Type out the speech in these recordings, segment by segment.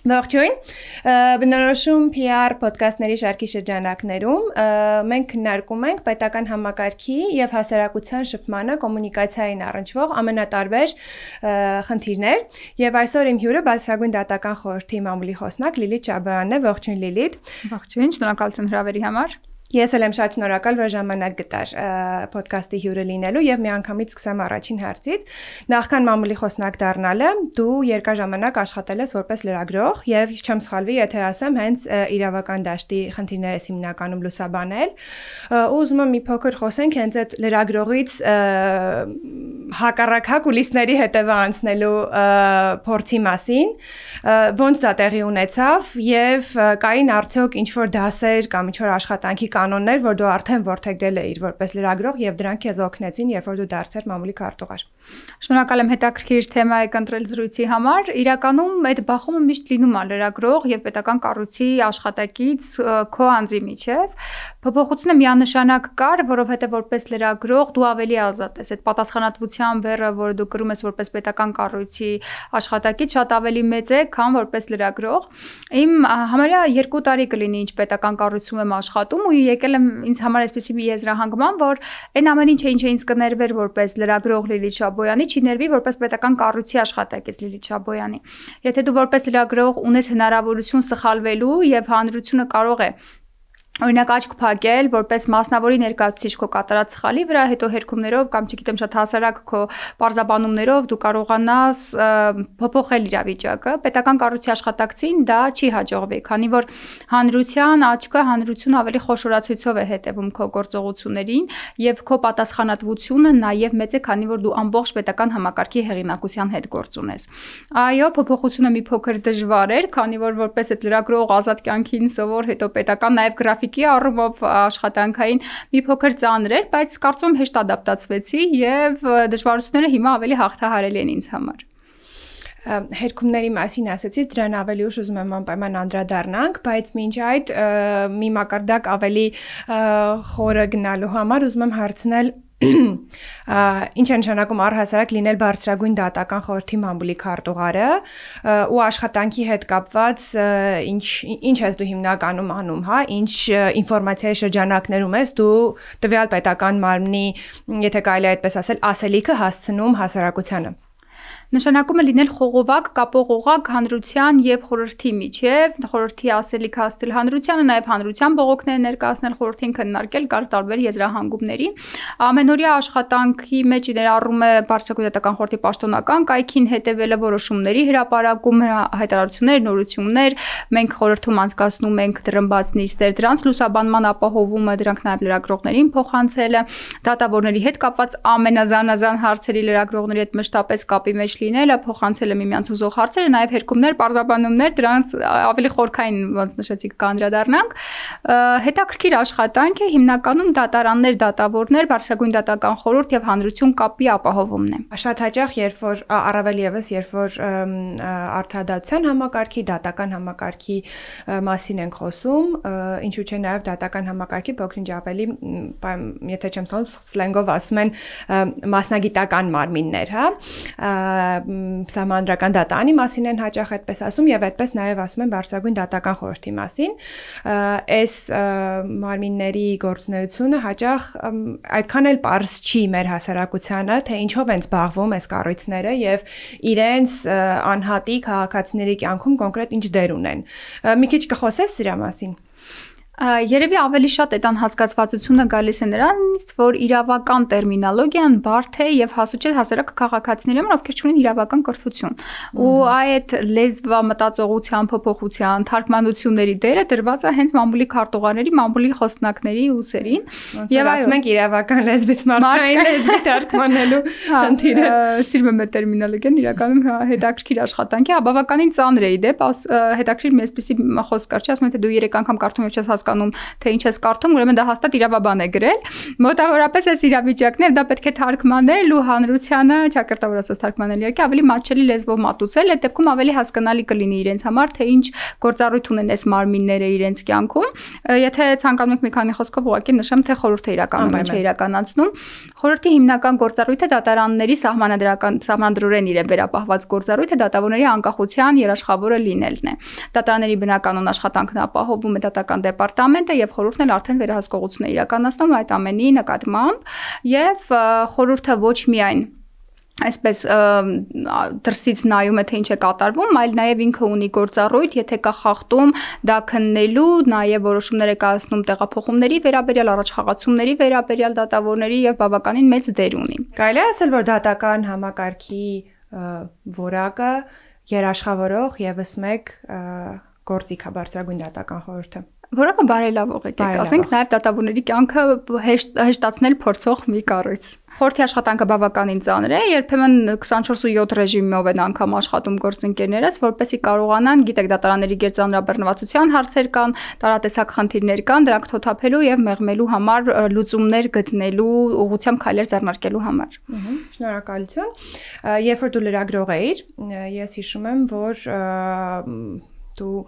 Ողջույն, բնորոշում PR ոդկասթների շարքի շրջանակներում մենք քննարկում ենք պետական համակարգի եւ հասարակության շփմանը կոմունիկացիային առնչվող ամենատարբեր խնդիրներ եւ այսօր իմ հյուրը բարձրագույն դատական խորհրդի մամուլի խոսնակ Լիլիթ Շաբոյանն է, ողջույն Լիլիթ։ Ողջույն, շնորհակալություն հրավերի համար։ Ես էլ եմ շատ շնորհակալ, որ ժամանակ գտար ոդկասթի հյուրը լինելու եւ միանգամից սկսեմ առաջին հարցից։ Նախքան մամուլի խոսնակ դառնալը դու երկար ժամանակ աշխատել ես որպես լրագրող եւ չեմ սխալվի, եթե ասեմ, հենց իրավական դաշտի խնդիրներ ես հիմնականում լուսաբանել։ Ուզում եմ մի փոքր խոսենք հենց այդ լրագրողից հակառակ կուլիսների հետևը անցնելու փորձի մասին, ոնց դա տեղի ունեցավ եւ կային արդյոք ինչ-որ դասեր կամ ինչ-որ աշխատանքի կանոններ, որ դու արդեն որդեգրել էիր որպես լրագրող եւ դրանք քեզ օգնեցին, երբ որ դու դարձար մամուլի քարտուղար։ Շնորհակալ եմ հետաքրքիր թեմայի ընտրել զրույցի համար։ Իրականում այդ բախումը միշտ լինում է լրագրող եւ պետական կառույցի աշխատակից քո անձի միջև։ Փոփոխությունը միանշանակ կար, որովհետեւ որպես լրագրող դու ավելի ազատ ես։ Այդ պատասխանատվության բեռը, որը դու կրում ես որպես պետական կառույցի աշխատակից, շատ ավելի մեծ է, քան որպես լրագրող։ Իմ համարյա 2 տարի կլինի, ինչ պետական կառույցում եմ աշխատում ու եկել եմ ինձ համար այսպեսի մի եզրահանգման, որ այն ամեն ինչը ինչ ինձ կներվեր որպես լրագրող Լիլիթ Շաբոյանի, չի ներվի որպես պետական կառույցի աշխատակից Լիլիթ Շաբոյանի։ Եթե դու որպես լրագրող ունես հնարավորություն սխալվելու եւ հանրությունը կարող է օրինակ աչք փակել որպես մասնավորի ներկայացուցիչ քո կատարած սխալի վրա, հետո հերքումներով կամ չգիտեմ շատ հասարակ քո պարզաբանումներով դու կարողանաս փոփոխել իրավիճակը։ Պետական կառույցի աշխատակցին դա չի հաջողվի, քանի որ հանրության աչքը հանրությունը ավելի խոշորացույցով է հետևում քո գործողություններին եւ քո պատասխանատվությունը նաեւ մեծ է, քանի որ դու ամբողջ պետական համակարգի հեղինակության հետ գործ ունես։ Այո, փոփոխությունը մի փոքր դժվար էր, քանի որ որպես այդ լրագրող ազատ կյանքին սովոր, հետո պետական նաեւ գրաֆիկի առումով աշխատանքային մի փոքր ծանր էր, բայց կարծում եմ հեշտ ադապտացվեցի եւ դժվարությունները հիմա ավելի հաղթահարելի են ինձ համար։ Հերքումների մասին ասացի, դրան ավելի ուշ ուզում եմ անպայման անդրադառնանք, բայց մինչ այդ մի մակարդակ ավելի խորը գնալու համար ուզում եմ հարցնել ինչ է նշանակում առհասարակ լինել բարձրագույն դատական խորհրդի մամուլի քարտուղարը ու աշխատանքի հետ կապված ինչ ես դու հիմնականում անում, հա, ինչ ինֆորմացիայի շրջանակներում ես դու տվյալ պետական մարմնի, եթե կարելի է այդպես ասել, ասելիքը հասցնում հասարակությանը։ Նշանակում է լինել խողովակ, կապող օղակ հանրության եւ խորհրդի միջև, խորհրդի ասելիքը հասցնել հանրությանը, նաեւ հանրության բողոքները ներկայացնել խորհրդին, քննարկել կար տարբեր եզրահանգումների։ Ամենօրյա աշխատանքի մեջ ներառում է բարձրագույն դատական խորհրդի պաշտոնական կայքին հետևելը, որոշումների հրապարակում, հայտարարություններ, նորություններ, մենք խորհրդում անցկացնում ենք դրմբաց նիստեր, դրանց լուսաբանման ապահովումը, դրանք նաեւ լրագրողներին փոխանցելը, դատավորների հետ կապված ամենազանազան հարցերի լրագրողների հետ մշտապես կապի մեջ լինելը, փոխանցելը միմյանց ուզող հարցերը, նաև հերքումներ, պարզաբանումներ, դրանց ավելի խորքային, ոնց նշեցիք, կանդրադառնանք։ Հետաքրքիր աշխատանք է, հիմնականում դատարաններ, դատավորներ, բարձրագույն դատական խորհուրդ եւ հանրություն կապի ապահովումն է։ Շատ հաճախ, երբ որ առավել եւս, երբ որ արդարադատության համակարգի, դատական համակարգի մասին ենք խոսում, ինչու՞ չէ նաև դատական համակարգի փոքրինչ ավելի, եթե չեմ սխալվում, սլենգով ասում են մասնագիտական մարմիններ, հա, սահմանադրական դատարանի մասին են հաճախ այդպես ասում եւ այդպես նաեւ ասում են բարձրագույն դատական խորհրդի մասին։ Այս մարմինների գործունեությունը հաճախ այդքան էլ պարզ չի մեր հասարակությանը, թե ինչով են զբաղվում այս կառույցները եւ իրենց անհատի քաղաքացիների կյանքում կոնկրետ ինչ դեր ունեն։ Մի քիչ կխոսես սրա մասին։ Երևի ավելի շատ այդ անհասկացվածությունը գալիս է նրանից, որ իրավական տերմինոլոգիան բարդ է եւ հասու չէ հասարակ քաղաքացիների համար, ովքեր չունեն իրավական կրթություն։ Ու այդ լեզվամտածողության, փոփոխության, թարգմանությունների դերը դրված է հենց մամուլի քարտուղարների, մամուլի խոսնակների ուսերին։ Եվ ասում ենք իրավական լեզվից մարդկային լեզվի թարգմանելու խնդիրը։ Սիրում եմ այդ տերմինոլոգիան, իրականում հետաքրքիր աշխատանք է, բավականին ծանր է իդեպ, հետաքրքիր մի այսպեսի խոսք կար, չի ասում, թե դու 3 անգամ կարդում եւ չես հասկանում, թե ինչ ես կարդում, ուրեմն դա հաստատ իրավաբան է գրել։ Մոտավորապես այս իրավիճակն է, դա պետք է թարգմանել ու հանրությանը, ճակերտավոր ասած թարգմանել իհարկե ավելի մատչելի լեզվով մատուցել, այդ դեպքում ավելի հասկանալի կլինի իրենց համար, թե ինչ գործառույթ ունեն այս մարմինները իրենց կյանքում։ Եթե ցանկանում եք մի քանի խոսքով ուղղակի նշեմ, թե խորհուրդը իրականում ինչ է իրականացնում։ Խորհրդի հիմնական գործառույթը դատարանների սահմանադրորեն իրեն վերապահված գործառույթը դատավորների անկախության երաշխավորը լինելն է։ Դատարանների բնականon աշխատանքն ապահովում է դատական դեպարտամենտը եւ խորհուրդն էլ արդեն վերահսկողություն է իրականացնում այդ ամենի նկատմամբ եւ խորհուրդը ոչ միայն այսպես դրսից նայում է թե ինչ է կատարվում, այլ նաև ինքը ունի գործառույթ, եթե կա խախտում, դա քննելու, նաև որոշումներ է կայացնում տեղափոխումների վերաբերյալ, առաջխաղացումների վերաբերյալ դատավորների եւ բավականին մեծ դեր ունի։ Կարելի է ասել, որ դատական համակարգի որակը երաշխավորող եւս մեկ գործիք է բարձրագույն դատական խորհուրդը։ Որակը բարելավող է, ասենք նաև դատավորների կյանքը հեշտացնել փորձող մի կառույց։ Խորհրդի աշխատանքը բավականին ծանր է, երբեմն 24/7 ռեժիմով են անգամ աշխատում գործընկերներս, որպեսզի կարողանան, գիտեք, դատարանների գերծանրաբեռնվածության հարցեր կան, տարատեսակ խնդիրներ կան, դրանք թոթափելու եւ մեղմելու համար լուծումներ գտնելու ուղղությամբ քայլեր ձեռնարկելու համար։ Շնորհակալություն։ Երբ որ դու լրագրող էիր, ես հիշում եմ, որ դու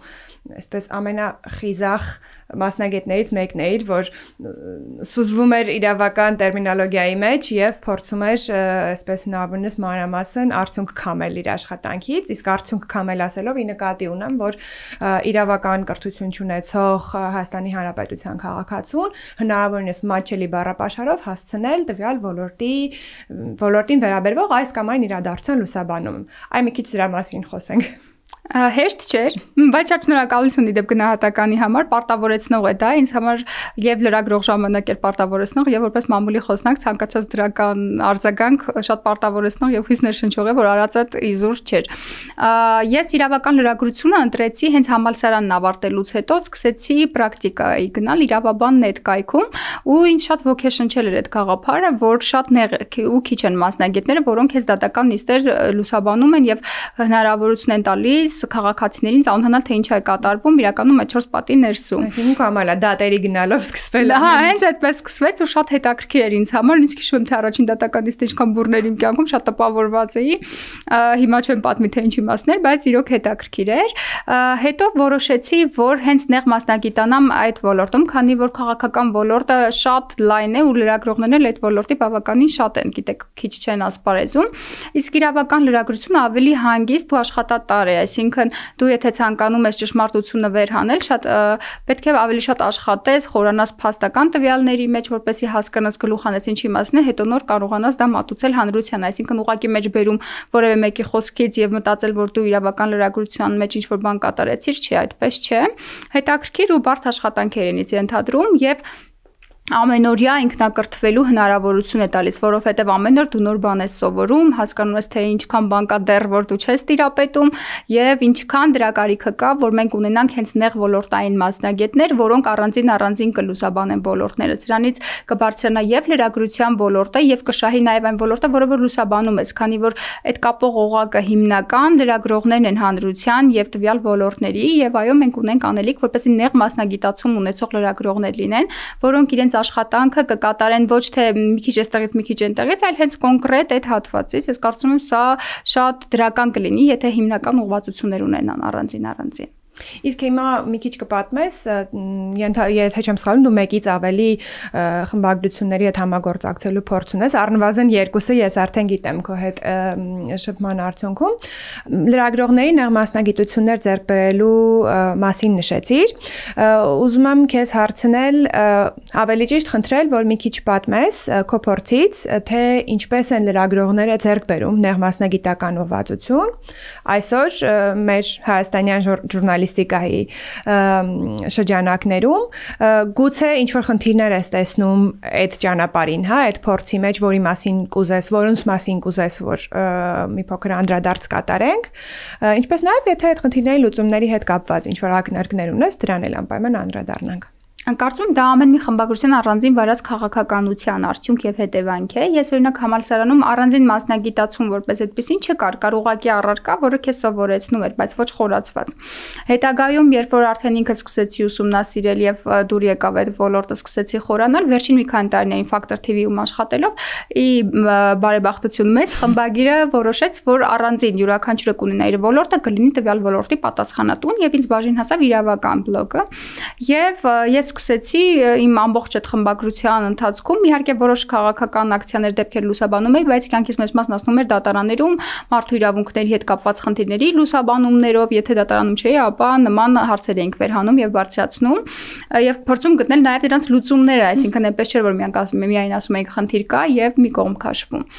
այսպես ամենախիզախ մասնագետներից մեկն էիր, որ սուզվում էր իրավական տերմինոլոգիայի մեջ եւ փորձում էր այսպես հնարավորինս մանրամասն արդյունք քամել իր աշխատանքից, իսկ արդյունք քամել ասելով ի նկատի ունեմ, որ իրավական կրթություն չունեցող Հայաստանի Հանրապետության քաղաքացուն հնարավորինս մատչելի բառապաշարով հասցնել տվյալ ոլորտին վերաբերվող այս կամ այն իրադարձության լուսաբանում։ Այ մի քիչ դրա մասին խոսենք։ Հեշտ չէր, բայց շատ շնորհակալություն իդեպ գնահատականի համար, պարտավորեցնող է դա, ինձ համար եւ լրագրող ժամանակ էր պարտավորեցնող եւ որպես մամուլի խոսնակ ցանկացած դրական արձագանք շատ պարտավորեցնող եւ հույս ներշնչող է, որ արածդ իզուր չէր։ Ես իրավական լրագրությունը ընտրեցի հենց համալսարանն ավարտելուց հետո, սկսեցի պրակտիկայի գնալ իրավաբան նետկայքում ու ինձ շատ ոգեշնչել էր այդ գաղափարը, որ շատ նեղ ու քիչ են մասնագետները, որոնք հենց դատական նիստեր լուսաբանում են եւ հնարավորություն են տալիս քաղաքացիներին ծանոթանալ թե ինչ է կատարվում իրականում այդ 4 պատի ներսում։ Այսինքն կամալա դատերի գնալով սկսվել է։ Հա, հենց այդպես սկսվեց ու շատ հետաքրքիր էր ինձ համար, ինձ հիշում եմ թե առաջին դատական նիստը ինչքան բուրներ իմ կյանքում շատ տպավորված էի։ Հիմա չեմ պատմի թե ինչ իմաստներ, բայց իրոք հետաքրքիր էր։ Հետո որոշեցի, որ հենց նեղ մասնագիտանամ այդ ոլորտում, քանի որ քաղաքական ոլորտը շատ լայն է ու լրագրողներն էլ այդ ոլորտի բավականին շատ են, գիտեք, քիչ չեն ասպարեզում։ Իսկ իրավական լրագրությունը ավելի հանգիստ ու աշխատատար է, այսինքն դու եթե ցանկանում ես ճշմարտությունը վերհանել, շատ պետք է ավելի շատ աշխատես, խորանաս փաստական տվյալների մեջ, որպեսզի հասկանաս գլուխ անես ինչի մասն է, հետո նոր կարողանաս դա մատուցել հանրության, այսինքն ուղղակի մեջ բերում որևէ մեկի խոսքից եւ մտածել, որ դու իրավական լրագրության մեջ ինչ-որ բան կատարեցիր, չի, այդպես չէ։ Հետաքրքիր ու բարդ աշխատանք էր ինձ ենթադրում եւ ամենօրյա ինքնակրթվելու հնարավորություն է տալիս, որովհետև ամեն օր դու նոր բան ես սովորում, հասկանում ես թե ինչքան բան կա դեռ որ դու չես տիրապետում եւ ինչքան դրա կարիքը կա, որ մենք ունենանք հենց նեղ ոլորտային մասնագետներ, որոնք առանձին կլուսաբանեն ոլորտները։ Սրանից կբարձրանա եւ լրագրության ոլորտը եւ կշահի նաեւ այն ոլորտը, որը որ լուսաբանում ես, քանի որ այդ կապող օղակը հիմնական լրագրողներն են հանրության եւ տվյալ ոլորտների եւ այո մենք ունենք անելիք, որպեսզի նեղ մասնագիտացում ունեցող լրագրողներ լինեն, որոնք իրենց աշխատանքը կկատարեն ոչ թե մի քիչ այստեղից, մի քիչ այնտեղից, այլ հենց կոնկրետ այդ հատվածից։ Ես կարծում եմ սա շատ դրական կլինի, եթե հիմնական ուղղվածություններ ունենան առանձին։ Իսկ հիմա մի քիչ կպատմես, եթե չեմ սխալվում, դու մեկից ավելի խմբագրությունների հետ համագործակցելու փորձ ունես, առնվազն 2-ը ես արդեն գիտեմ քո հետ շփման արդյունքում։ Լրագրողների նեղ մասնագիտություններ ձեռք բերելու մասին նշեցիր։ Ուզում եմ քեզ հարցնել, ավելի ճիշտ խնդրել, որ մի քիչ պատմես քո փորձից, թե ինչպես են լրագրողները ձեռք բերում նեղ մասնագիտական ուղղվածություն։ Այսօր մեր հայաստանյան ժուրնալիստիկայի շրջանակներում գուցե ինչ որ խնդիրներ ես տեսնում այդ ճանապարհին, հա, այդ փորձի մեջ, որի մասին կուզես, որոնց մասին կուզես, որ մի փոքր անդրադարձ կատարենք, ինչպես նաև եթե այդ խնդիրների լուծումների հետ կապված ինչ որ ակնարկներ ունես, դրան էլ անպայման անդրադառնանք։ Կարծում դա ամեն մի խմբագրության առանձին վարած քաղաքականության արդյունք եւ հետևանք է։ Ես օրինակ համալսարանում առանձին մասնագիտացում որպես այդպեսին չկար, կար ուղղակի առարկա, որը քեզ սովորեցնում էր, բայց ոչ խորացված։ Հետագայում, երբ որ արդեն ինքը սկսեցի ուսումնասիրել եւ դուր եկավ այդ ոլորտը, սկսեցի խորանալ, վերջին մի քանի տարիներին Factor TV-ում աշխատելով, բարեբախտություն մեզ խմբագիրը որոշեց, որ առանձին յուրաքանչյուրը կունենա իր ոլորտը, կլինի տվյալ ոլորտի պատասխանատուն եւ ինձ բաժին հասավ իրավական բլոկը։ Եվ ես սկսեցի իմ ամբողջ այդ խմբագրության ընթացքում իհարկե որոշ քաղաքական ակցիաներ դեպքեր լուսաբանում էի, բայց կյանքից մեծ մասն անցնում էր դատարաններում մարդու իրավունքների հետ կապված խնդիրների լուսաբանումներով, եթե դատարանում չէի, ապա նման հարցեր էինք վերհանում եւ բարձրացնում եւ փորձում գտնել նաեւ դրանց լուծումները, այսինքն այնպես չէր որ միայն ասում էինք խնդիր կա եւ մի կողմ քաշվում։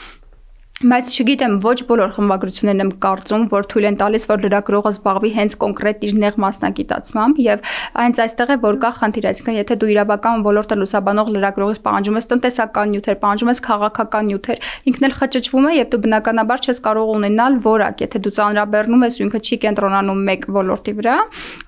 Բայց չգիտեմ, ոչ բոլոր խմբագրություններն եմ կարծում, որ թույլ են տալիս, որ լրագրողը զբաղվի հենց կոնկրետ իր նեղ մասնագիտացմամբ եւ հենց այստեղ է որ կա խնդիր, այսինքն եթե դու իրավական ոլորտը լուսաբանող լրագրողից պահանջում ես տնտեսական նյութեր, պահանջում ես քաղաքական նյութեր, ինքն էլ խճճվում է եւ դու բնականաբար չես կարող ունենալ որակ, եթե դու ծանրաբեռնում ես ու ինքը չի կենտրոնանում մեկ ոլորտի վրա,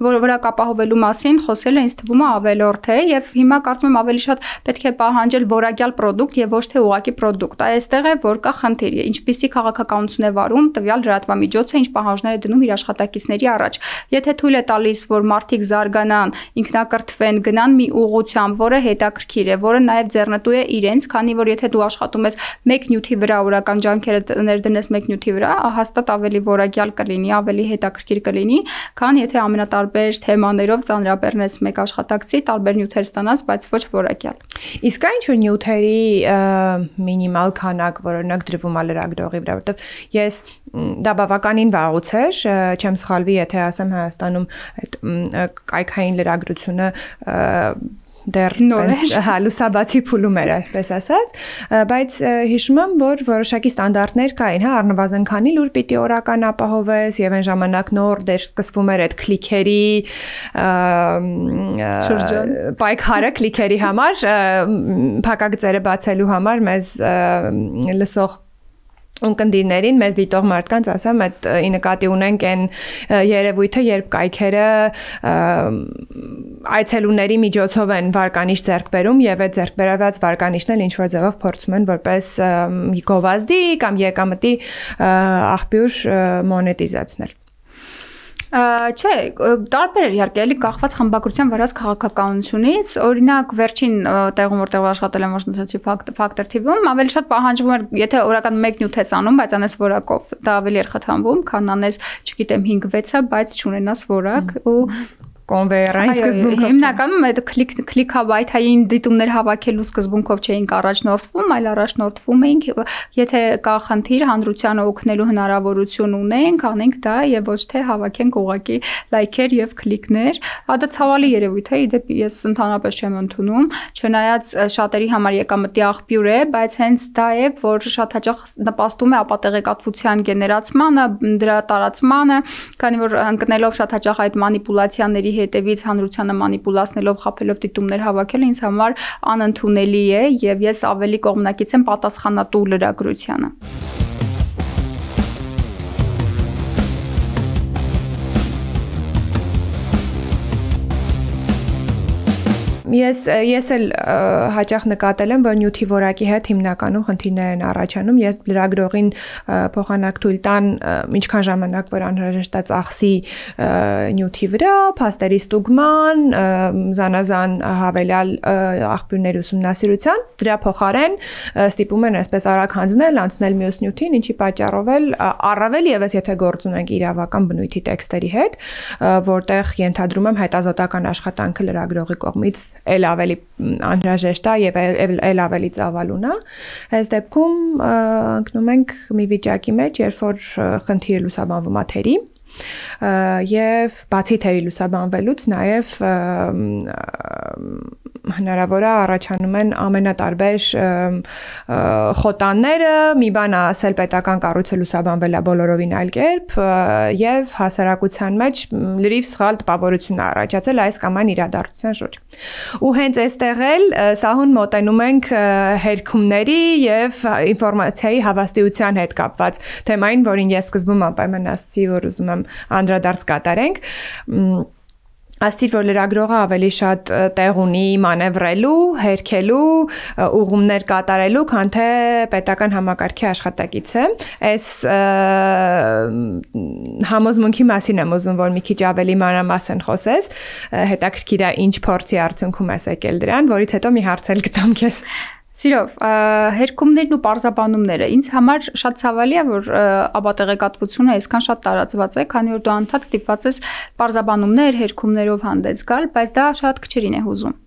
որը վրա կապահովելու մասին խոսելը ինձ թվում է ավելորդ է եւ հիմա կարծում եմ ավելի շատ պետք է պահանջել որակյալ պրոդուկտ եւ ոչ թե ուղղակի պրոդուկտ, այստեղ է որ կա խնդիր ինչպիսի քաղաքականություն է վարում տվյալ լրատվամիջոցը, ինչ պահանջներ է դնում իր աշխատակիցների առաջ։ Եթե թույլ է տալիս, որ մարդիկ զարգանան, ինքնակրթվեն, գնան մի ուղղությամբ, որը հետաքրքիր է, որը նաև ձեռնտու է իրենց, քանի որ եթե դու աշխատում ես մեկ նյութի վրա, օրական ջանքերը ներդնես մեկ նյութի վրա, հաստատ ավելի որակյալ կլինի, ավելի հետաքրքիր կլինի, քան եթե ամենատարբեր թեմաներով ծանրաբեռնես մեկ աշխատակցի, տարբեր նյութեր ստանաս, բայց ոչ որակյալ։ Իսկ ինչ-որ նյութերի մինիմալ քանակ, որ օրինակ դրվում է լրագրողի վրա, որտեվ ես դա բավականին վաղուց էր, չեմ սխալվի, եթե ասեմ Հայաստանում այդ կայքային լրագրությունը դեռ լուսաբացի փուլում էր, այսպես ասած, բայց հիշում եմ, որ որոշակի ստանդարտներ կային, հա, առնվազն քանի լուր պիտի օրական ապահովես եւ այն ժամանակ նոր դեր սկսվում էր այդ քլիքերի պայքարը քլիքերի համար, փակագծերը բացելու համար մեզ լսող ունկնդիրներին մեզ դիտող մարդկանց ասեմ, այդ ի նկատի ունենք այն երևույթը, երբ կայքերը այցելուների միջոցով են վարկանիշ ձեռք բերում եւ այդ ձեռք բերված վարկանիշն էլ ինչ որ ձևով փորձում են որպես գովազդի կամ եկամտի աղբյուր մոնետիզացնել։ Չէ, տարբեր էր իհարկե, էլի կախված խմբագրության վրաց քաղաքականությունից, օրինակ վերջին տեղում որտեղ աշխատել եմ ոչնչացի Factor TV-ում, ավելի շատ պահանջվում էր, եթե օրական 1 նյութ ես անում, բայց անես որակով, դա ավելի էր խթանվում, քան անես, չգիտեմ, 5-6-ը, բայց չունենաս որակ ու կոնվեյերային սկզբունքով։ Հիմնականում այդ քլիքաբայթային դիտումներ հավաքելու սկզբունքով չէինք առաջնորդվում, այլ առաջնորդվում էինք, եթե կա խնդիր հանրությանը օգնելու հնարավորություն ունենք, անենք դա եւ ոչ թե հավաքենք ուղղակի լայքեր եւ քլիկներ։ Դա ցավալի երևույթ է, իդեպ ես ընդհանրապես չեմ ընդունում, չնայած շատերի համար եկամտի աղբյուր է, բայց հենց դա է, որ շատ հաճախ նպաստում է ապատեղեկատվության գեներացմանը, դրա տարածմանը, քանի որ ընկնելով շատ հաճախ այդ մանիպուլյացիաների հետևից հանրությանը մանիպուլացնելով խաբելով դիտումներ հավաքելը ինձ համար անընդունելի է եւ ես ավելի կողմնակից եմ պատասխանատու լրագրությանը։ Ես էլ հաճախ նկատել եմ, որ նյութի որակի հետ հիմնականում խնդիրներ են առաջանում։ Ես լրագրողին փոխանակ թույլ տան ինչքան ժամանակ որ անհրաժեշտ է ծախսի նյութի վրա, փաստերի ստուգման, զանազան հավելյալ աղբյուրների ուսումնասիրության, դրա փոխարեն ստիպում են այսպես արագ հանձնել, անցնել մյուս նյութին, ինչի պատճառով էլ առավել եւս եթե գործ ունենք իրավական բնույթի տեքստերի հետ, որտեղ ենթադրում եմ հետազոտական աշխատանքը լրագրողի կողմից էլ ավելի անհրաժեշտ է եւ էլ ավելի ծավալուն է։ Այս դեպքում ընկնում ենք մի վիճակի մեջ, երբ որ խնդիրը լուսաբանվում է թերի եւ բացի թերի լուսաբանվելուց նաեւ հնարավոր է առաջանում են ամենատարբեր խոտանները, մի բան ասել պետական կառույցը լուսաբանվել է բոլորովին այլ կերպ եւ հասարակության մեջ լրիվ սխալ տպավորություն առաջացել այս կամ այն իրադարձության շուրջ։ Ու հենց այստեղ էլ սահուն մոտենում ենք հերքումների եւ ինֆորմացիայի հավաստիության հետ կապված թեմային, որին ես սկզբում անպայման ասացի, որ ուզում եմ անդրադարձ կատարենք։ Աստիճ որ լրագրողը ավելի շատ տեղ ունի մանևրելու, հերքելու, ուղումներ կատարելու, քան թե պետական համակարգի աշխատակիցը։ Այս համոզմունքի մասին եմ ուզում, որ մի քիչ ավելի մանրամասն խոսես, հետաքրքիր է ինչ փորձի արդյունքում ես եկել դրան, որից հետո մի հարց էլ գտամ քեզ։ Սիրով, հերքումներն ու պարզաբանումները ինձ համար շատ ցավալի է, որ ապատեղեկատվությունը այսքան շատ տարածված է, քանի որ դու անդադ ստիպված ես պարզաբանումներ, հերքումներով հանդես գալ, բայց դա շատ քչերին է հուզում։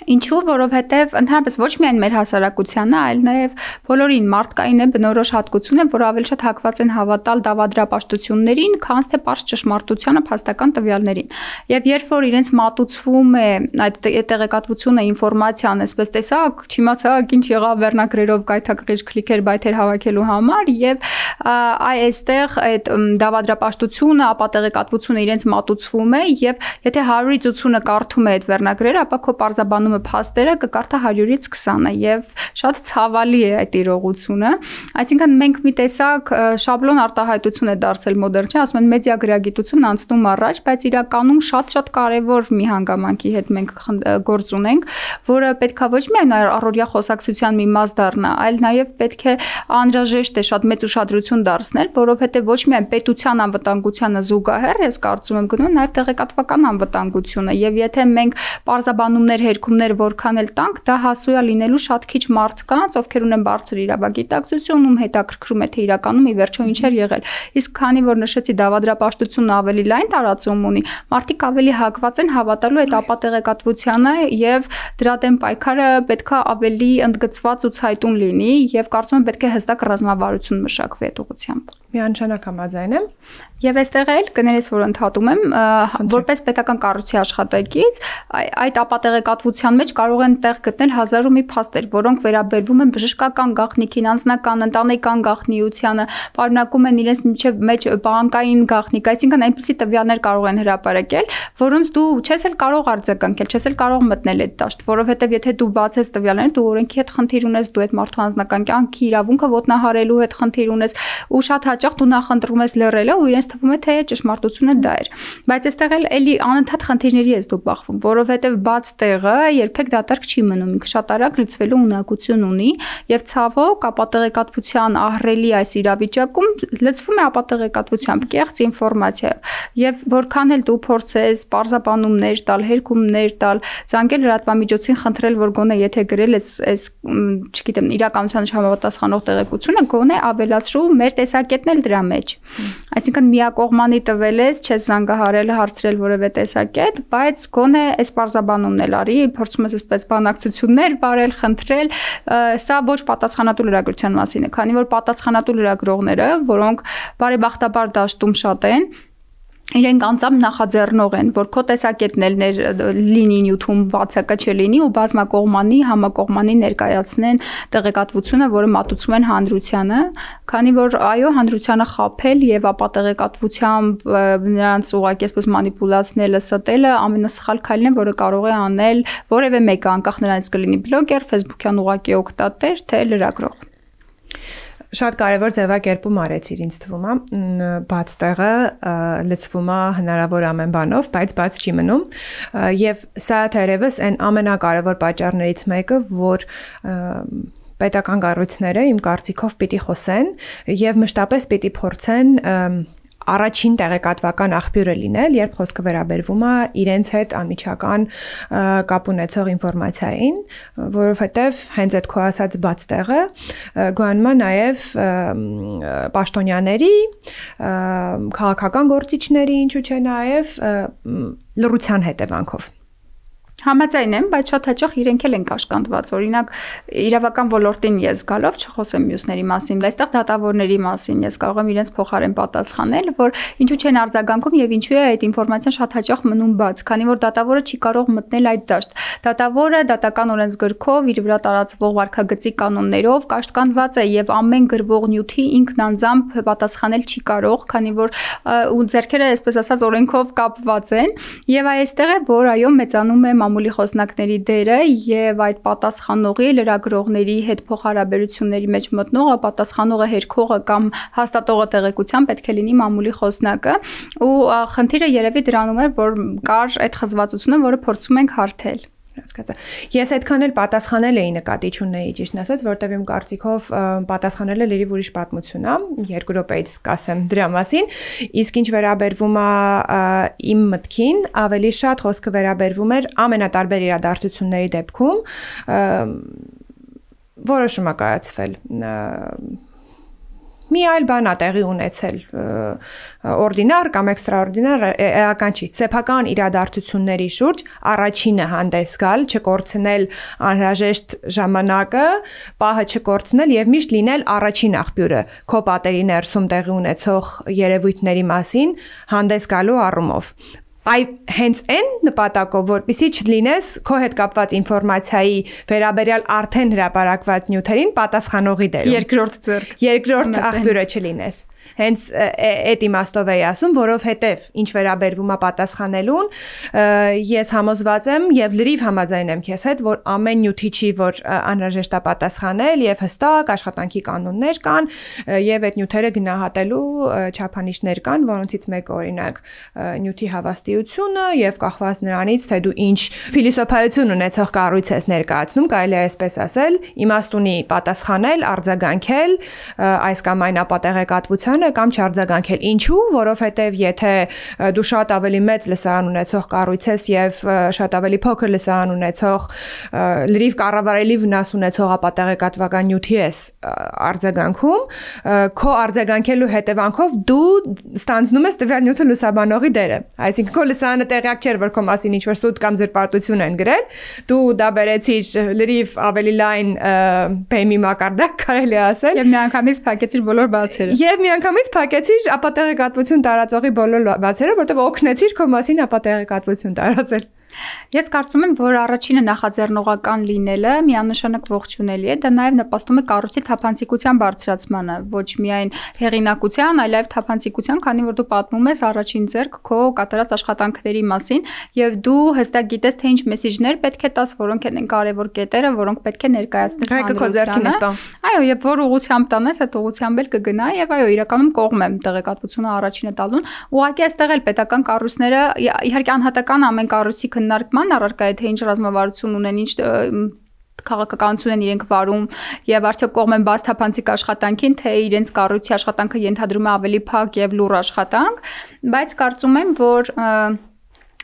Ինչու, որովհետև ընդհանրապես ոչ միայն մեր հասարակությանը, այլ նաև բոլորին մարդկային է բնորոշ հատկություն է, որ ավելի շատ հակված են հավատալ դավադրապաշտություններին, քան թե պարզ ճշմարտությանը, փաստական տվյալներին։ Եվ երբ որ իրենց մատուցվում է այդ տեղեկատվությունը, ինֆորմացիան, այսպես տեսակ, չիմացակ ինչ եղավ վերնագրերով գայթակղիչ քլիքեր բայթեր հավաքելու համար, եւ այստեղ այդ դավադրապաշտությունը, ապատեղեկատվությունը իրենց մատուցվում է, եւ եթե 100-ից 80-ը կարդում է այդ վերնագրերը, ապա քո պարզաբանումը փաստերը կկարդա 100-ից 20-ը եւ շատ ցավալի է այդ իրողությունը, այսինքն մենք մի տեսակ շաբլոն արտահայտություն է դարձել մոդեռն, չէ, ասում են մեդիա գրագիտությունն անցնում առաջ, բայց իրականում շատ կարևոր մի հանգամանքի հետ մենք գործ ունենք, որը պետքա ոչ միայն առօրյա խոսակցության մի մաս դառնա, այլ նաեւ պետք է անհրաժեշտ է շատ մեծ ուշադրություն դարձնել, որովհետեւ ոչ միայն պետության անվտանգությանը զուգահեռ, ես կարծում եմ գնում նաեւ տեղեկատվական անվտանգությունը, եւ եթե մենք պարզաբանումներ հերքումներ որքան էլ տանք, դա հասու է լինելու շատ քիչ մարդկանց, ովքեր ունեն բարձր իրավագիտակցություն, ում հետաքրքրում է թե իրականում ի վերջո ինչ էր եղել։ Իսկ քանի որ նշեցի դավադրապաշտությունը ավելի լայն տարածում ունի, մարդիկ ավելի հակված են հավատալու այդ ապատեղեկատվությանը եւ դրա դեմ պայքարը պետքա ավելի ընդգծված ու ցայտուն լինի եւ կարծում եմ պետք է հստակ ռազմավարություն մշակվի այդ ուղղությամբ։ Միանշանակ համաձայն եմ։ Եվ այստեղ էլ կներես, որ ընդհատում եմ, որպես պետական կառույցի աշխատակից, այդ ապատեղեկատվության մեջ կարող են տեղ գտնել հազար ու մի փաստեր, որոնք վերաբերվում են բժշկական գաղտնիքին, անձնական, ընտանեկան գաղտնիությանը, պարունակում են իրենց մեջ բանկային գաղտնիք, այսինքն այնպիսի տվյալներ կարող են հրապարակել, որոնց դու չես էլ կարող արձագանքել, չես էլ կարող մտնել այդ դաշտ, որովհետև եթե դու բացես տվյալները, դու օրենքի հետ խնդիր ունես, դու այդ մարդու անձնական կյանքի իրավունքը ոտնահարելու հետ խնդիր ունես, ու շատ հաճախ դու նախընտրում ես լռելը ու իրենց թվում է թե ճշմարտությունը դա էր, բայց այստեղ էլի անընդհատ խնդիրների ես դու բախվում, որովհետև բաց տեղը երբեք դատարկ չի մնում, ինքը շատ արագ լցվելու ունակություն ունի եւ ցավոք ապատեղեկատվության ահռելի այս իրավիճակում լցվում է ապատեղեկատվությամբ կեղծ ինֆորմացիայով եւ որքան էլ դու փորձես պարզաբանումներ տալ, հերքումներ տալ, զանգել լրատվամիջոցին խնդրել, որ գոնե եթե գրել ես չգիտեմ իրականության չհամապատասխանող տեղեկությունը, գոնե ավելացրու մեր տեսակետն էլ դրա մեջ, այսինքն միակողմանի տվել ես, չես զանգահարել, հարցրել որևէ տեսակետ, բայց գոնե այս պարզաբանումն էլ արի, փորձում ես այսպես բանակցություններ վարել, խնդրել, սա ոչ պատասխանատու լրագրության մասին է, քանի որ պատասխանատու լրագրողները, որոնք բարեբախտաբար դաշտում շատ են, իրենք անձամբ նախաձեռնող են, որ քո տեսակետն էլ լինի նյութում բացակա չլինի ու բազմակողմանի, համակողմանի ներկայացնեն տեղեկատվությունը, որը մատուցում են հանրությանը, քանի որ այո, հանրությանը խաբել եւ ապատեղեկատվությամբ նրանց ուղղակի այսպես մանիպուլացնելը, ստելը ամենասխալ քայլն է, որը կարող է անել որևէ մեկը, անկախ նրանից կլինի բլոգեր, Facebook-յան ուղղակի օգտատեր, թե լրագրող։ Շատ կարևոր ձևակերպում արեցիր, ինձ թվում է, բաց տեղը լցվում է հնարավոր ամեն բանով, բայց բաց չի մնում, եւ սա թերևս այն ամենակարևոր պատճառներից մեկը, որ պետական կառույցները իմ կարծիքով պիտի խոսեն եւ մշտապես պիտի փորձեն առաջին տեղեկատվական աղբյուրը լինել, երբ խոսքը վերաբերվում է իրենց հետ անմիջական կապ ունեցող ինֆորմացիային, որովհետև հենց այդ քո ասած բաց տեղը գոյանում է նաև պաշտոնյաների, քաղաքական գործիչների, ինչու՞ չէ նաև լռության հետևանքով։ Համաձայն եմ, բայց շատ հաճախ իրենք էլ են կաշկանդված, օրինակ իրավական ոլորտին ես գալով չխոսեմ մյուսների մասին, այստեղ դատավորների մասին ես կարող եմ իրենց փոխարեն պատասխանել, որ ինչու չեն արձագանքում եւ ինչու է այդ ինֆորմացիան շատ հաճախ մնում բաց, քանի որ դատավորը չի կարող մտնել այդ դաշտ։ Դատավորը դատական օրենսգրքով իր վրա տարածվող վարքագծի կանոններով կաշկանդված է եւ ամեն գրվող նյութի ինքն անձամբ պատասխանել չի կարող, քանի որ ու ձեռքերը այսպես ասած օրենքով կապված են եւ այստեղ է որ այո մեծանում է մամուլի խոսնակների դերը եւ այդ պատասխանողի լրագրողների հետ փոխհարաբերությունների մեջ մտնողը, պատասխանողը հերքողը կամ հաստատողը տեղեկության պետք է լինի մամուլի խոսնակը ու խնդիրը երևի դրանում է, որ կար այդ խզվածությունը, որը փորձում ենք հարթել։ Հասկացա։ Ես այդքան էլ պատասխանել էի նկատի չունեի, ճիշտն ասած, որտեվ իմ կարծիքով պատասխանելը լրիվ ուրիշ պատմություն է, 2 րոպեից կասեմ դրա մասին, իսկ ինչ վերաբերվում է իմ մտքին, ավելի շատ խոսքը վերաբերվում էր ամենատարբեր իրադարձությունների դեպքում, որոշում է կայացվել մի այլ բան է տեղի ունեցել օրդինար կամ էքստրաօրդինար էական չի սեփական իրադարձությունների շուրջ առաջինը հանդես գալ չկորցնել անհրաժեշտ ժամանակը պահը չկորցնել եւ միշտ լինել առաջին աղբյուրը քո պատերի ներսում տեղի ունեցող երևույթների մասին հանդես գալու առումով հենց այն նպատակով, որպեսզի չլինես քո հետ կապված ինֆորմացիայի վերաբերյալ արդեն հրապարակված նյութերին պատասխանողի դերում։ Երկրորդ աղբյուրը չլինես։ Հենց այդ իմաստով էի ասում, որովհետև ինչ վերաբերվում է պատասխանելուն, ես համոզված եմ եւ լրիվ համաձայն եմ քեզ հետ, որ ամեն նյութի չի, որ անհրաժեշտ է պատասխանել եւ հստակ աշխատանքի կանոններ կան եւ այդ նյութերը գնահատելու չափանիշներ կան, որոնցից մեկը օրինակ նյութի հավաստիությունը եւ կախված նրանից, թե դու ինչ փիլիսոփայություն ունեցող կառույց ես ներկայացնում, կարելի է այսպես ասել, իմաստունի պատասխանել, արձագանքել այս կամ այն ապատեղեկատվության կամ չարձագանքել։ Ինչու, որովհետև եթե դու շատ ավելի մեծ լսարան ունեցող կառույց ես եւ շատ ավելի փոքր լսարան ունեցող լրիվ կառավարելի վնաս ունեցող ապատեղեկատվական նյութի ես արձագանքում, քո արձագանքելու հետևանքով դու ստանձնում ես տվյալ նյութը լուսաբանողի դերը։ Այսինքն քո լսարանը տեղյակ չէր, որ քո մասին ինչ-որ սուտ կամ զրպարտություն են գրել, դու դա բերեցիր լրիվ ավելի լայն բեմի մակարդակ, կարելի է ասել։ Եվ միանգամից փակեցիր բոլոր բացերը։ Եվ միանգամից փակեցիր ապատեղեկատվություն տարածողի բոլոր բացերը, որտեղ օգնեցիր քո մասին ապատեղեկատվություն տարածել։ Ես կարծում եմ, որ առաջինը նախաձեռնողական լինելը միանշանակ ողջունելի է, դա նաև նպաստում է կառույցի թափանցիկության բարձրացմանը, ոչ միայն հեղինակության, այլև թափանցիկության, քանի որ դու պատմում ես առաջին ձեռք քո կատարած աշխատանքների մասին եւ դու հստակ գիտես, թե ինչ մեսեջներ պետք է տաս, որոնք են կարևոր կետերը, որոնք պետք է ներկայացնես հանրությանը։ Այո, եւ որ ուղղությամբ տանես, այդ ուղղությամբ էլ կգնա եւ այո, իրականում կողմ եմ տեղեկատվությունը առաջինը տալուն։ Ուղղակի այստեղ էլ պետական կառույցները իհարկե անհատական ամեն կառույցի քննարկման առարկա է, թե ինչ ռազմավարություն ունեն, ինչ քաղաքականություն են իրենք վարում եւ արդյոք կողմ են բաց թափանցիկ աշխատանքին, թե իրենց կառույցի աշխատանքը ենթադրում է ավելի փակ եւ լուռ աշխատանք, բայց կարծում եմ, որ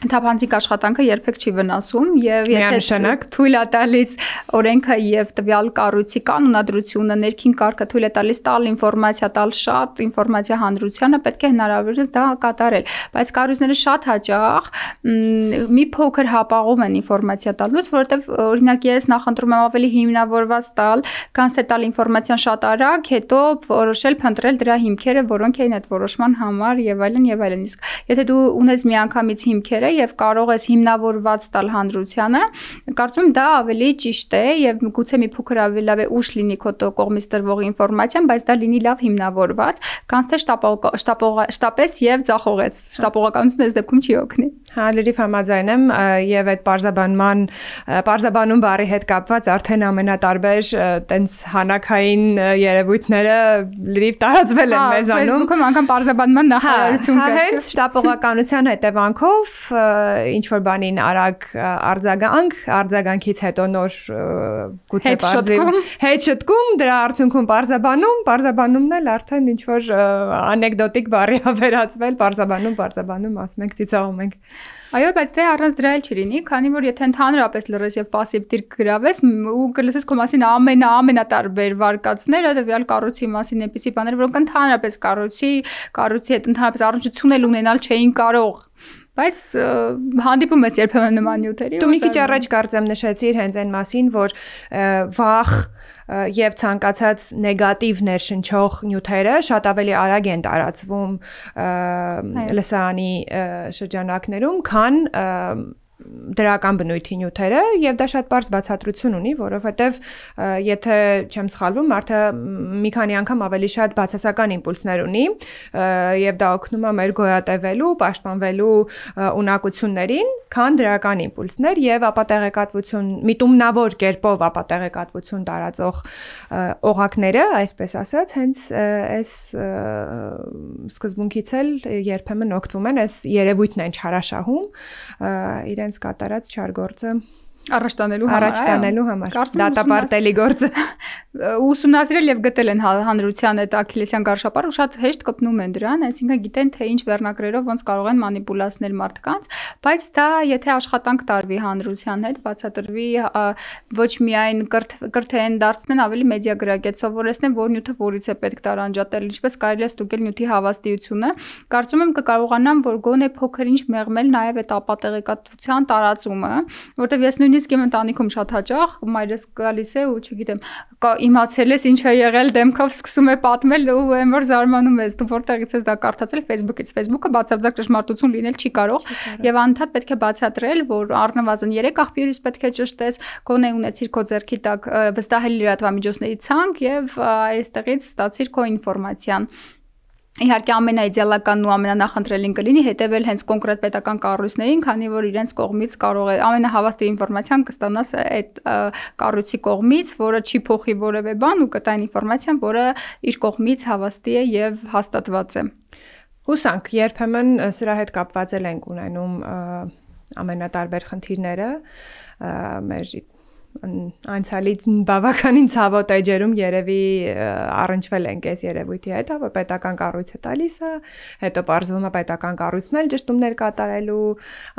թափանցիկ աշխատանքը երբեք չի վնասում եւ եթե թույլ է տալիս օրենքը եւ տվյալ կառույցի կանոնադրությունը ներքին կարգը թույլ է տալիս տալ ինֆորմացիա, տալ շատ ինֆորմացիա հանրությանը, պետք է հնարավորինս դա կատարել, բայց կառույցները շատ հաճախ մի փոքր հապաղում են ինֆորմացիա տալուց, որովհետեւ օրինակ ես նախընտրում եմ ավելի հիմնավորված տալ, քան թե տալ ինֆորմացիան շատ արագ, հետո որոշել փնտրել դրա հիմքերը, որոնք են այդ որոշման համար եւ այլն եւ այլն։ Իսկ եթե դու ունես միանգամից հիմքերը եւ կարող ես հիմնավորված տալ հանրությանը, կարծում եմ դա ավելի ճիշտ է եւ գուցե մի փոքր ավելի լավ է ուշ լինի քո կողմից տրվող ինֆորմացիան, բայց դա լինի լավ հիմնավորված, քան թե շտապես եւ ձախողես։ Շտապողականությունը այս դեպքում չի օգնի։ Հա, լրիվ համաձայն եմ եւ այդ պարզաբանում բառի հետ կապված արդեն ամենատարբեր տենց հանաքային երևույթները լրիվ տարածվել են մեզանում։ Facebook-ում անգամ պարզաբանման նախարարություն կա։ Հենց շտապողականության հետևանքով ինչ որ բանին արագ արձագանքից հետո նոր գուցե հետ շտկում, դրա արդյունքում պարզաբանումն էլ արդեն ինչ որ անեկդոտիկ բառի է վերածվել, պարզաբանում ասում ենք, ծիծաղում ենք։ Այո, բայց դե առանց դրա էլ չլինի, քանի որ եթե ընդհանրապես լրես եւ пассив դիրք գրավես ու կլսես քո մասին ամենատարբեր վարկածները, տվյալ կառույցի մասին այնպիսի բաներ, որոնք ընդհանրապես կառույցի հետ ընդհանրապես առնչություն էլ ունենալ չէին կարող։ Բայց հանդիպում ես երբեմն նման նյութերի։ Դու մի քիչ առաջ կարծեմ նշեցիր հենց այն մասին, որ վախ եւ ցանկացած նեգատիվ ներշնչող նյութերը շատ ավելի արագ են տարածվում լսարանի շրջանակներում, քան դրական բնույթի նյութերը եւ դա շատ բարձ բացատրություն ունի, որովհետեւ եթե չեմ սխալվում, մարդը մի քանի անգամ ավելի շատ բացասական իմպուլսներ ունի եւ դա օգնում է մեր գոյատևելու, պաշտպանվելու ունակություններին, քան դրական իմպուլսներ եւ ապատեղեկատվություն, միտումնավոր կերպով ապատեղեկատվություն տարածող օղակները, այսպես ասած, հենց այս սկզբունքից էլ երբեմն օգտվում են, այս երևույթն են չարաշահում իրենց կատարած չար գործը առաջ տանելու համար, դատապարտելի գործը։ ուսումնասիրել եւ գտել են հանրության այդ աքիլեսյան գարշապարը ու շատ հեշտ կպնում են դրան, այսինքն գիտեն թե ինչ վերնագրերով ոնց կարող են մանիպուլացնել մարդկանց, բայց դա եթե աշխատանք տարվի հանրության հետ, բացատրվի ոչ միայն կրթեն դարձնեն ավելի մեդիա գրագետ, սովորեցնեն որ նյութը որից է պետք տարանջատել, ինչպես կարելի է ստուգել նյութի հավաստիությունը, կարծում եմ կկարողանան որ գոնե փոքր ինչ մեղմել նաեւ այդ ապատեղեկատվության տարածումը, որտեվ ես նույնիսկ իմ ընտանիքում շատ հաճախ մայրս գալիս է ու չգիտեմ իմացել ես ինչ է եղել դեմքով սկսում է պատմել ու այն որ զարմանում ես դու որտեղից ես դա կարդացել Facebook-ից Facebook-ը բացարձակ ճշմարտություն լինել չի կարող եւ անդադ պետք է բացատրել որ առնվազն 3 աղբյուրից պետք է ճշտես գոնե ունեցիր քո ձեռքի տակ վստահելի լրատվամիջոցների ցանկ եւ այստեղից ստացիր քո ինֆորմացիան Իհարկե ամենաիդեալականն ու ամենանախընտրելին կլինի հետևել հենց կոնկրետ պետական կառույցներին, քանի որ իրենց կողմից կարող է ամենահավաստի ինֆորմացիան կստանաս այդ կառույցի կողմից, որը չի փոխի որևէ բան ու կտա ինֆորմացիան, որը իր կողմից հավաստի է եւ հաստատված է։ Հուսանք, երբեմն սրա հետ կապված ենք ունենում ամենատարբեր խնդիրները մեր անցյալի բավականին ցավոտ էջերում երևի առնչվել ենք այս երևույթի հետ, որ պետական կառույցը տալիս է, հետո պարզվում է պետական կառույցն էլ ճշտումներ կատարելու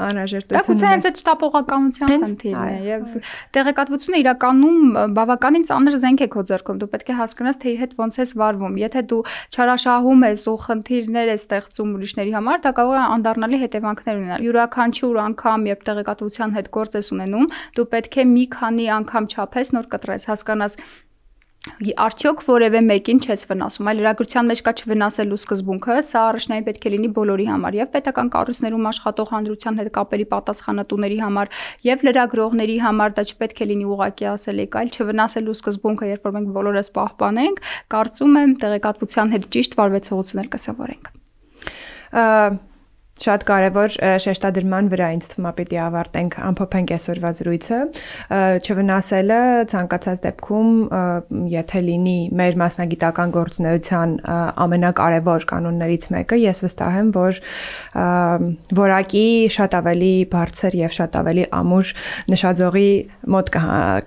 անհրաժեշտություն ունի։ Դա հենց այդ շտապողականության խնդիրն է եւ տեղեկատվությունը իրականում բավականին ծանր զենք է քո ձեռքում, դու պետք է հասկանաս թե իր հետ ոնց ես վարվում։ Եթե դու չարաշահում ես ու խնդիրներ ես ստեղծում ուրիշների համար, դա կարող է անդառնալի հետևանքներ ունենալ։ Յուրաքանչյուր անգամ, երբ տեղեկատվության հետ գործ ես ունենում, դու պետք է մի քանի անգամ չափես նոր կտրես, հասկանաս արդյոք որևէ մեկին չես վնասում, այլ լրագրության մեջ կա չվնասելու սկզբունքը, սա առաջնային պետք է լինի բոլորի համար, եւ պետական կառույցներում աշխատող հանրության հետ կապերի պատասխանատուների համար, եւ լրագրողների համար, դա չպետք է լինի ուղղակի ասելիք, այլ չվնասելու սկզբունքը, երբ որ մենք բոլորս պահպանենք, կարծում եմ տեղեկատվության հետ ճիշտ վարվեցողություններ կսովորենք։ Շատ կարևոր շեշտադրման վրա ինձ թվում է պիտի ավարտենք ամփոփենք այսօրվա զրույցը չվնասելը ցանկացած դեպքում եթե լինի մեր մասնագիտական գործունեության ամենակարևոր կանոններից մեկը ես վստահ եմ որ որակի շատ ավելի բարձր եւ շատ ավելի ամուր նշաձողի մոտ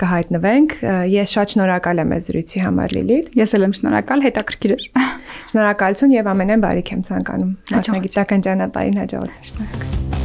կհայտնվենք ես շատ շնորհակալ եմ այս զրույցի համար Լիլիթ ես էլ եմ շնորհակալ հետաքրքիր էր շնորհակալություն եւ ամենայն բարիք եմ ցանկանում մասնագիտական ճանապարհին հաջողություն։